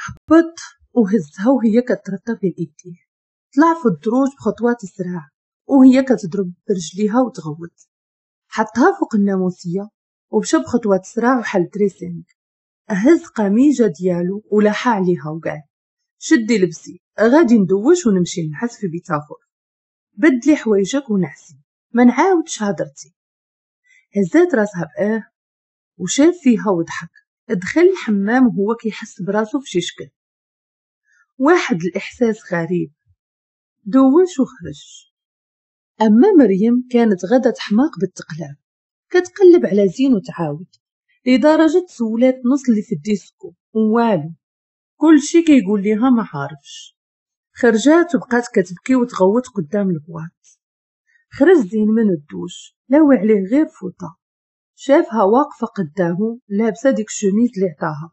هبط وهزها وهي كترطب بين ايديه. طلع في الدروج بخطوات سراع وهي كتضرب برجليها وتغوت. حطها فوق الناموسيه ومشى بخطوات سراع وحل dressing، هز قميجه ديالو ولاحها عليها وقال شدي لبسي، غادي ندوش ونمشي نعس في بيت اخر، بدلي حوايجك ونعسي، ما نعاودش هضرتي. هزات راسها باه وشاف فيها وضحك. دخل الحمام وهو كيحس براسو في شي شكل، واحد الاحساس غريب. دوش وخرج. اما مريم كانت غدا تحماق بالتقلاب، كتقلب على زين وتعاود، لدرجة سولات نص اللي في الديسكو والو، كل شي كيقول ليها ما عارفش. خرجات وبقات كتبكي وتغوت قدام ال boîte. خرج زين من الدوش لاوي عليه غير فوطه، شافها واقفة قدامه لابسه ديك الشميز اللي عطاها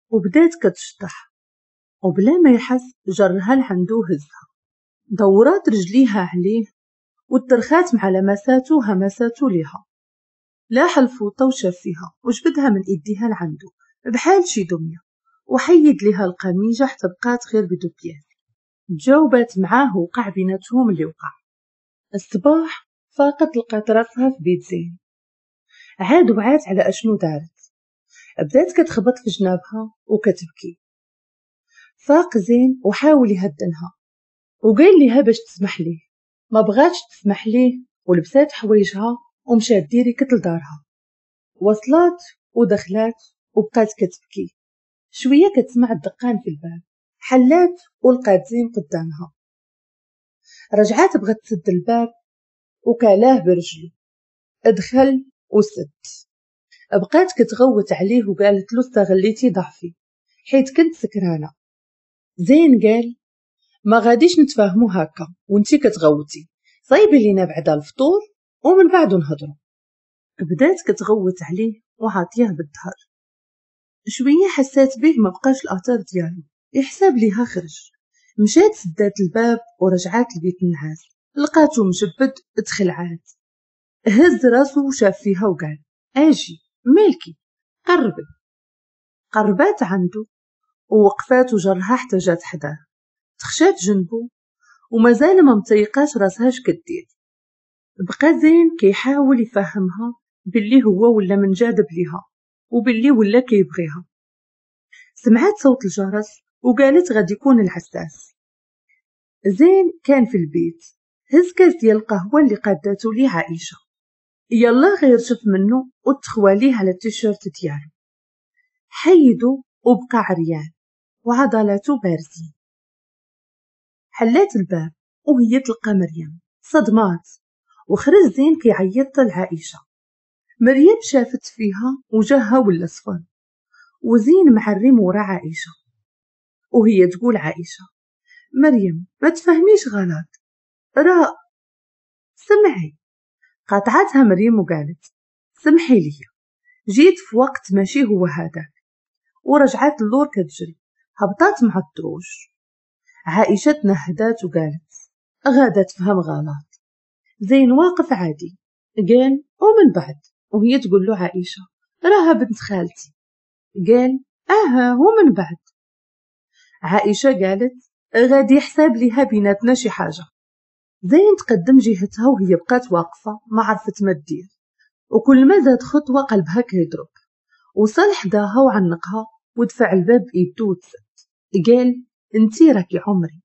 وبدات كتشطح، وبلا ما يحس جرها لعندو وهزها، دورات رجليها عليه وترخات مع لمساتو وهمساتو ليها. لاح الفوطه وشاف فيها وجبدها من ايديها لعندو بحال شي دمية، وحيد ليها القميجه حتى بقات غير ب deux pièces. تجاوبات معاه وقع بيناتهم اللي وقع. الصباح فاقت لقات راسها في بيت زين، عاد وعات على اشنو دارت، بدات كتخبط في جنابها وكتبكي. فاق زين وحاول يهدنها وقال ليها باش تسمح ليه، ما بغاتش تسمح ليه ولبسات حوايجها ومشات directe لدارها. وصلات ودخلات وبقات كتبكي. شوية كتسمع الدقان في الباب، حلات ولقات زين قدامها. رجعات بغات تسد الباب وكالاه برجلو، ادخل وسد. بقات كتغوت عليه وقالت له استغليتي ضعفي حيت كنت سكرانه. زين قال ما غاديش نتفاهمو هكا وانتي كتغوتي، صايبي لينا بعدا الفطور ومن بعد نهضرو. بدات كتغوت عليه وعاطيه بالظهر. شوية حسات به ما بقاش الاثر ديالو، يحسب ليها خرج. مشات سدات الباب ورجعات لبيت النعاس، لقاتو مجبد تخلعات. هز راسو وشاف فيها وقال اجي مالكي قربي. قربات عنده ووقفات وجرها حتى جات حداه، تخشات جنبو ومازال ما متيقاش راسها اش كدير. بقى زين كيحاول يفهمها باللي هو ولا منجذب ليها وباللي ولا كيبغيها. سمعت صوت الجرس وقالت غادي يكون العساس. زين كان في البيت، هز كاس ديال القهوة اللي قاداتو ليه عائشة، يلا غير شف منه وتخواليه على التيشيرت ديالو، حيدو وبقى عريان وعضلاتو بارزين. حلات الباب وهي تلقى مريم، صدمات، وخرج زين كيعيط لعائشة. مريم شافت فيها وجهها ولا صفر، وزين معرم ورا عائشة، وهي تقول عائشة مريم ما تفهميش غلط، راه سمعي. قاطعتها مريم وقالت سمحي لي جيت في وقت ماشي هو هذاك، ورجعت اللور كتجري، هبطات مع الدروج. عائشة تنهدات وقالت غادا تفهم غلط. زين واقف عادي، قال ومن بعد، وهي تقول له عائشة راها بنت خالتي، قال اها ومن بعد. عائشة قالت غادي يحسب ليها بيناتنا شي حاجة. زين تقدم جهتها وهي بقات واقفة ما عرفت ما دير، وكل ما زاد خطوة قلبها كيضرب. وصل حداها وعنقها ودفع الباب بإيدو وتسد، قال انتي راكي عمري.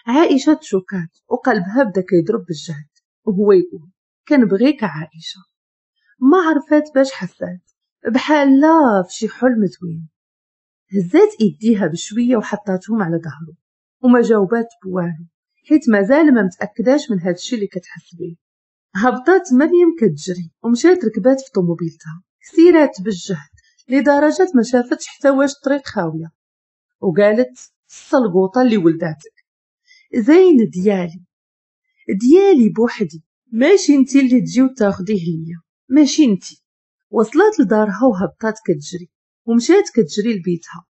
عائشة تشوكات وقلبها بدا كيضرب بالجهد، وهو يقول كنبغيك عائشة. ما عرفات باش حسات، بحال لا في شي حلم زوين. هزات ايديها بشوية وحطاتهم على ظهره وما جاوبات بوالو، حيت مازال ما متاكداش من هادشي اللي كتحس بيه. هبطات مريم كتجري ومشات ركبات في طوموبيلتها، سيرات بالجهد لدرجة ما شافتش حتى واش الطريق خاوية، وقالت السلقوطه اللي ولداتك زين ديالي، ديالي بوحدي، ماشي انتي اللي تجي وتاخديه ليا، ماشي انتي. وصلت لدارها وهبطات كتجري ومشات كتجري لبيتها،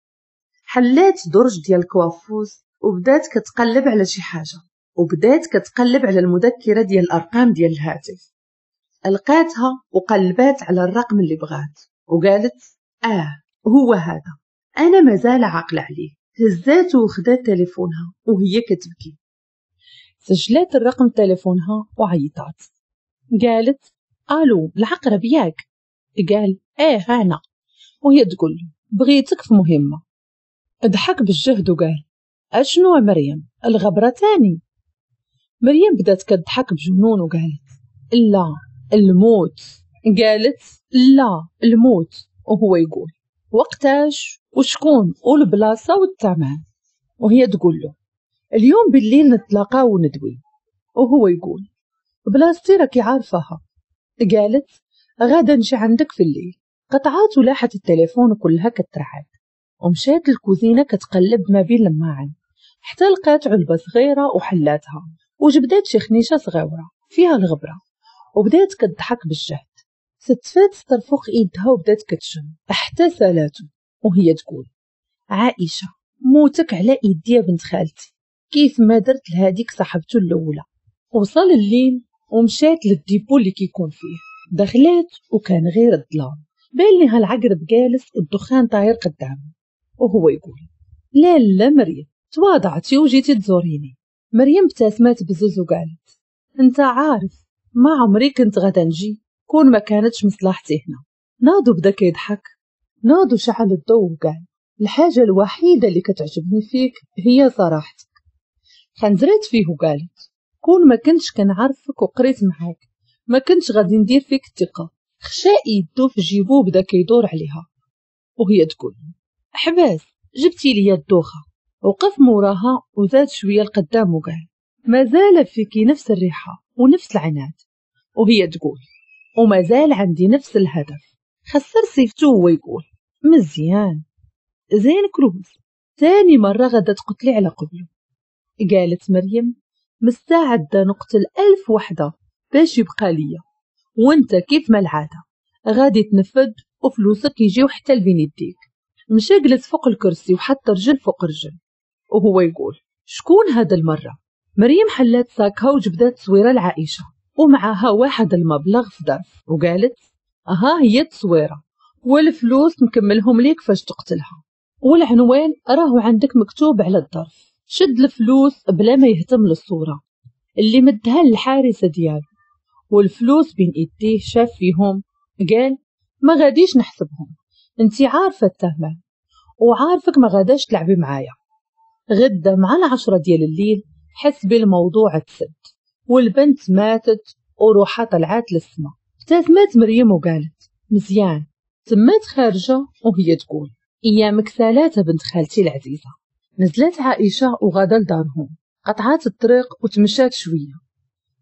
حلات درج ديال ال coiffeuse وبدات كتقلب على شي حاجة، وبدات كتقلب على المذكرة ديال الارقام ديال الهاتف. لقاتها وقلبات على الرقم اللي بغات وقالت هو هذا، انا مازال عاقلة عليه. هزات وخدات تليفونها وهي كتبكي، سجلات الرقم تليفونها وعيطات، قالت الو العقرب ياك؟ قال ايه انا. وهي تقول بغيتك في مهمة. ضحك بالجهد وقال اشنو مريم الغبرة تاني؟ مريم بدات كتضحك بجنون وقالت لا الموت. قالت لا الموت. وهو يقول وقتاش وشكون والبلاصة والثمن؟ وهي تقول له اليوم بالليل نتلاقاو وندوي. وهو يقول بلاصتي راكي عارفاها. قالت غادا نجي عندك في الليل. قطعات ولاحت التليفون كلها كترعد، ومشات الكوزينة كتقلب ما بين الماعن حتى لقات علبة صغيرة وحلاتها وجبدات شي خنيشة صغيرة فيها الغبرة، وبدات كتضحك بالجهد. ستفات سطر فوق ايدها وبدات كتشم حتى سالاتو، وهي تقول عائشة موتك على ايدي يا بنت خالتي، كيف ما درت لهاديك صاحبته الاولى. وصل الليل ومشات لل dépôt اللي كيكون فيه، دخلات وكان غير الظلام، بان لها العقرب جالس والدخان طاير قدامه، وهو يقول لا لا مريم تواضعتي وجيتي تزوريني. مريم ابتسمت بزز وقالت انت عارف ما عمري كنت غادا نجي كون ما كانتش مصلحتي هنا. ناضو بدا كيضحك، ناضو شعل الضوء وقال الحاجة الوحيدة اللي كتعجبني فيك هي صراحتك. خنزرات فيه وقالت كون ما كنتش كنعرفك وقريت معاك ما كنتش غادي ندير فيك الثقة. خشا يدو في جيبو وبدا كيدور عليها، وهي تقول حباس جبتي لي الدوخة. وقف موراها وزاد شوية لقدام وقال مازال فيكي نفس الريحة ونفس العناد. وهي تقول ومازال عندي نفس الهدف. خسر سيفتو وهو يقول مزيان زين كروز، تاني مرة غدا تقتلي على قبله. قالت مريم مستعدة نقتل 1000 وحدة باش يبقى ليا، وانت كيف ما العادة غادي تنفذ وفلوسك يجيو حتى لبين يديك. مشى جلس فوق الكرسي وحط رجل فوق رجل وهو يقول شكون هذا المرة؟ مريم حلات ساكها وجبدات تصويرة لعائشة ومعها واحد المبلغ في ظرف، وقالت ها هي التصويرة والفلوس نكملهم ليك فاش تقتلها، والعنوان راهو عندك مكتوب على الظرف. شد الفلوس بلا ما يهتم للصورة اللي مدها للحارسة ديالو، والفلوس بين ايديه شاف فيهم قال ما غاديش نحسبهم، انتي عارفة التهمة وعارفك ما غاداش تلعبي معايا. غدا مع 10 ديال الليل حسبي الموضوع تسد، والبنت ماتت وروحها طلعات للسما. ابتسمت مريم وقالت مزيان. تمات خارجة وهي تقول ايامك سالات بنت خالتي العزيزة. نزلت عائشة وغادا لدارهم، قطعات الطريق وتمشات شوية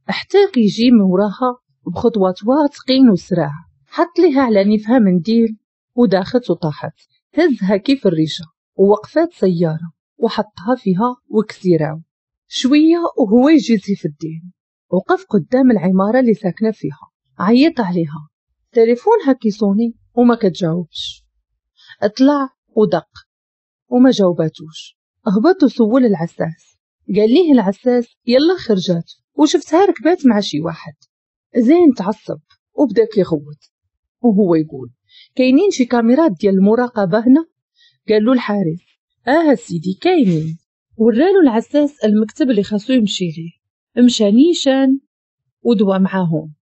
حتى كيجي من وراها بخطوات واثقين وسراع، حط لها على نيفها منديل وداخت وطاحت. هزها كيف الريشة ووقفات سيارة وحطها فيها وكسيراو شوية وهو يجي سيف الدين. وقف قدام العمارة اللي ساكنة فيها، عيط عليها، تليفونها كيصوني وما كتجاوبش. اطلع ودق وما جاوباتوش. هبط وسول العساس، قال ليه العساس يلا خرجات وشفتها ركبات مع شي واحد. زين تعصب وبدا كيغوت وهو يقول كاينين شي كاميرات ديال المراقبة هنا؟ قال له الحارس اه سيدي كاينين. ورالو العساس المكتب اللي خاصو يمشي ليه، مشى نيشان ودوا معاهم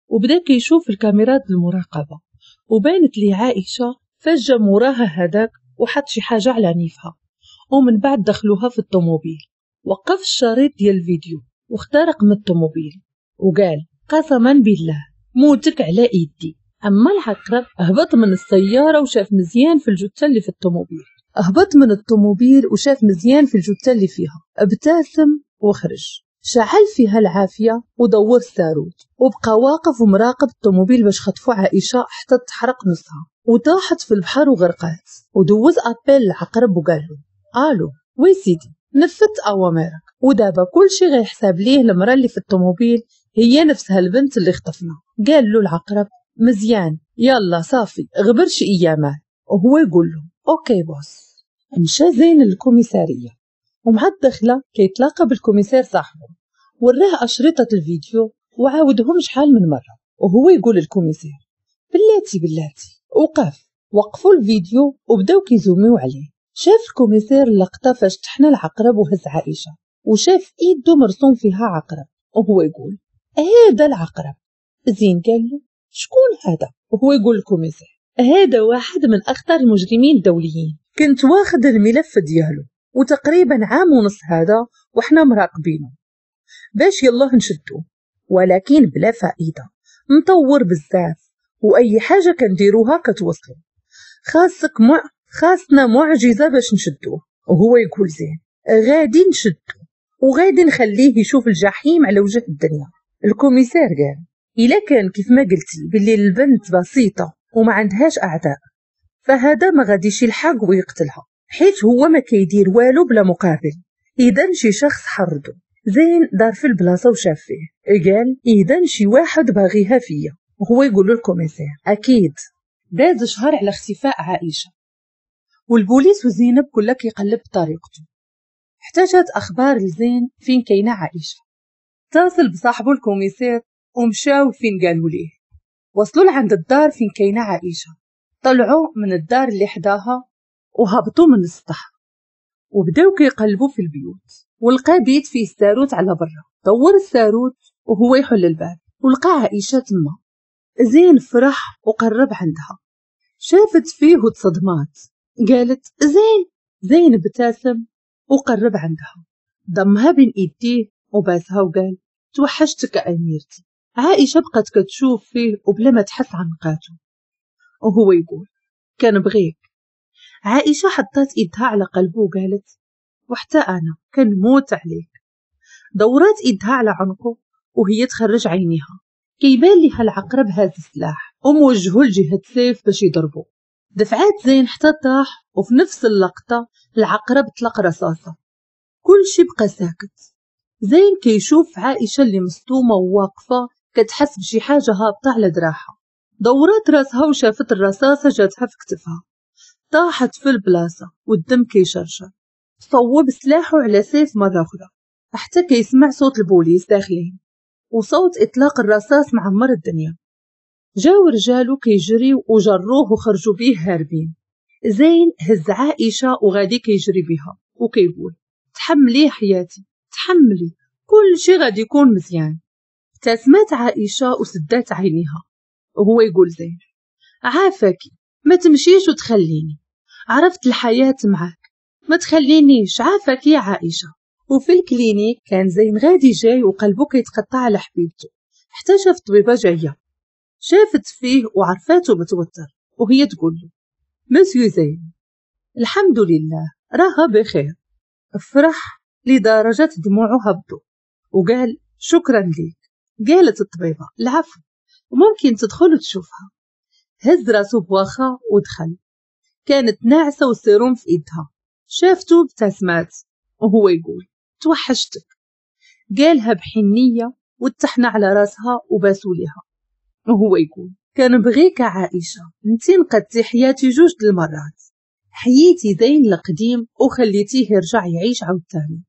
وبدا كيشوف الكاميرات المراقبة، وبانت لي عائشة فجأة موراها هذاك وحط شي حاجة على نيفها، ومن بعد دخلوها في الطوموبيل. وقف الشريط ديال الفيديو واخترق من الطوموبيل وقال قسما بالله موتك على ايدي. اما العقرب هبط من السيارة وشاف مزيان في الجثة اللي في الطوموبيل، هبط من الطوموبيل وشاف مزيان في الجثة اللي فيها، ابتسم وخرج، شعل فيها العافية ودور الساروت وبقى واقف ومراقب الطوموبيل باش خطفوا عائشة حتى تحرق نصها وطاحت في البحر وغرقات. ودوز appel العقرب وقال له الو oui سيدي نفذت اوامرك، ودابا كلشي غيحسب ليه المراة اللي في الطوموبيل هي نفسها البنت اللي خطفنا. قال له العقرب مزيان يلا صافي غبر شي ايامات. وهو يقول له OK boss. مشى زين للكوميساريه ومع الدخلة كيتلاقى بال commissaire صاحبه، وراه اشرطه الفيديو وعاودهم شحال من مرة. وهو يقول لل commissaire بلاتي بلاتي، وقف. وقفوا الفيديو وبداو كيزوميو عليه، شاف ال commissaire اللقطة فاش تحنى العقرب وهز عائشة، وشاف ايده مرسوم فيها عقرب، وهو يقول هذا العقرب. زين قال له شكون هذا؟ وهو يقول ال commissaire هذا واحد من اخطر المجرمين الدوليين، كنت واخد الملف ديالو وتقريبا 1.5 عام هذا وحنا مراقبينه باش يلاه نشدوه، ولكن بلا فائدة، مطور بزاف واي حاجة كنديروها كتوصلو، خاصنا معجزه باش نشدوه. وهو يقول زين غادي نشدو وغادي نخليه يشوف الجحيم على وجه الدنيا. ال commissaire قال الا كان كيف ما قلتي باللي البنت بسيطة وما عندهاش اعداء، فهذا ما غاديش يلحق ويقتلها، حيت هو ما كيدير والو بلا مقابل، اذا شي شخص حردو. زين دار في البلاصة وشاف فيه، قال اذا شي واحد باغيها فيا. وهو يقول له ال commissaire اكيد. داز شهر على اختفاء عائشة، والبوليس وزينب كلها كيقلب بطريقته، حتى جات اخبار لزين فين كاينه عائشة. اتصل بصاحبه ال commissaire ومشاو فين قالوا ليه. وصلوا لعند الدار فين كاينه عائشة، طلعوا من الدار اللي حداها وهبطوا من السطح وبداو كيقلبوا في البيوت، ولقى بيت فيه الساروت على برا. دور الساروت وهو يحل الباب ولقى عائشة تما. زين فرح وقرب عندها، شافت فيه وتصدمات، قالت زين. زين ابتسم وقرب عندها، ضمها بين ايديه وباسها وقال توحشتك اميرتي. عائشة بقت كتشوف فيه وبلا ما تحس عنقاته، وهو يقول كنبغيك. عائشة حطت ايدها على قلبه وقالت وحتى انا كنموت عليك. دورات ايدها على عنقه وهي تخرج عينيها، كيبان ليها العقرب هاز السلاح وموجهه لجهة سيف باش يضربه. دفعات زين حتى طاح، وفي نفس اللقطة العقرب طلق رصاصة. كل شي بقى ساكت. زين كيشوف عائشة اللي مصدومة وواقفة كتحس بشي حاجة هابطة على دراعها. دورات راسها وشافت الرصاصة جاتها في كتفها، طاحت في البلاصة والدم كيشرشر. صوب سلاحه على سيف مرة أخرى حتى كيسمع صوت البوليس داخلين وصوت إطلاق الرصاص معمر الدنيا. جاو رجالو كيجريو وجروه وخرجوا بيه هاربين. زين هز عائشة وغادي كيجري بها وكيقول تحملي حياتي، تحملي، كل شي غادي يكون مزيان. ابتسمت عائشة وسدات عينيها، وهو يقول زين عافاكي ما تمشيش وتخليني، عرفت الحياة معاك، ما تخلينيش، عافاك يا عائشة. وفي ال clinique كان زين غادي جاي وقلبه كيتقطع على حبيبته، حتى شاف طبيبة جاية. شافت فيه وعرفاته متوتر، وهي تقول له مسيو زين الحمد لله راها بخير. فرح لدرجة دموعه هبطوا وقال شكرا ليك. قالت الطبيبة العفو، وممكن تدخل وتشوفها. هز راسه بواخا ودخل. كانت ناعسة والسيروم في ايدها. شافته ابتسمات وهو يقول توحشتك. قالها بحنية واتحنى على راسها وباسو ليها، وهو يقول كنبغيك عائشة، انتي نقدتي حياتي 2 المرات، حييتي زين القديم وخليتيه يرجع يعيش عاوتاني،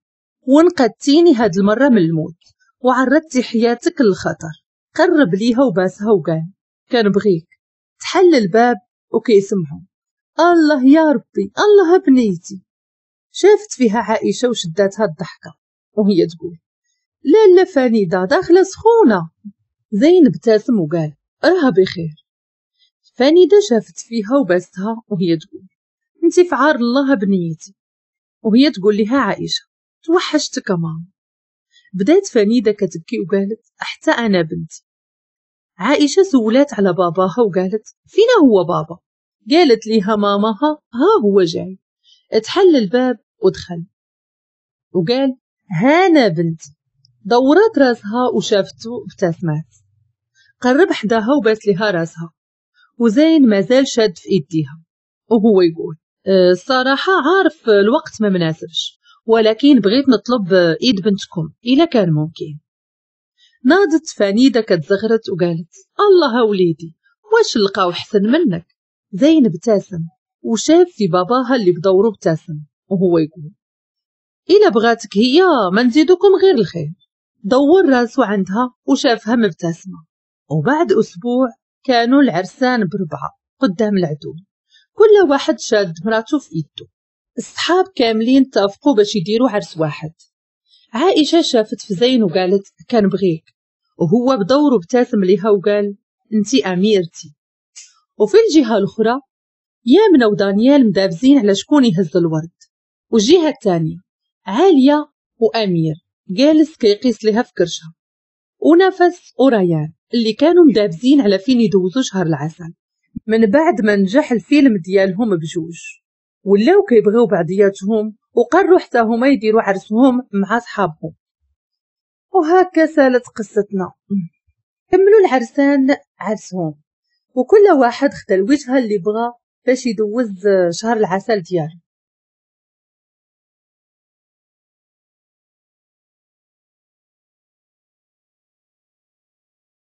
ونقدتيني هاد المرة من الموت وعرضتي حياتك للخطر. قرب ليها وباسها وقال كنبغيك. تحل الباب وكيسمعوا الله يا ربي، الله بنيتي. شافت فيها عائشة وشداتها الضحكة وهي تقول لا لا فانيدة داخلة سخونة. زين ابتسم وقال راها بخير. فانيدة شافت فيها وباستها وهي تقول انتي في عار الله بنيتي. وهي تقول لها عائشة توحشتك ماما. بدات فانيدة كتبكي وقالت حتى أنا بنتي. عائشة سولات على باباها وقالت فينا هو بابا؟ قالت ليها ماماها ها هو جاي. اتحل الباب ودخل وقال هانا بنتي. دورات راسها وشافته ابتسمات. قرب حداها وباس لها راسها، وزين مازال شاد في ايديها وهو يقول الصراحة عارف الوقت ما مناسبش، ولكن بغيت نطلب ايد بنتكم إلا كان ممكن. ناضت فانيدة كتزغرت وقالت الله وليدي واش لقاو حسن منك. زين ابتسم وشاف في باباها اللي بدوره ابتسم وهو يقول إلا بغاتك هي ما نزيدكم غير الخير. دور راسو عندها وشافها مبتسمة. وبعد أسبوع كانوا العرسان بربعة قدام العدو، كل واحد شاد مراته في إيده. الصحاب كاملين اتفقوا باش يديروا عرس واحد. عائشة شافت في زين وقالت كنبغيك، وهو بدوره ابتسم لها وقال انتي اميرتي. وفي الجهة الاخرى يامنة ودانيال مدابزين على شكون يهز الورد، والجهة الثانية عالية وامير جالس كيقيس لها في كرشها، ونفس وريان اللي كانوا مدابزين على فين يدوزوا شهر العسل. من بعد ما نجح الفيلم ديالهم بجوج ولاو كيبغيو بعضياتهم، وقرروا حتى هما يديروا عرسهم مع صحابهم. وهكا سالت قصتنا. كملوا العرسان عرسهم، وكل واحد خدا الوجهة اللي بغى باش يدوز شهر العسل ديالو.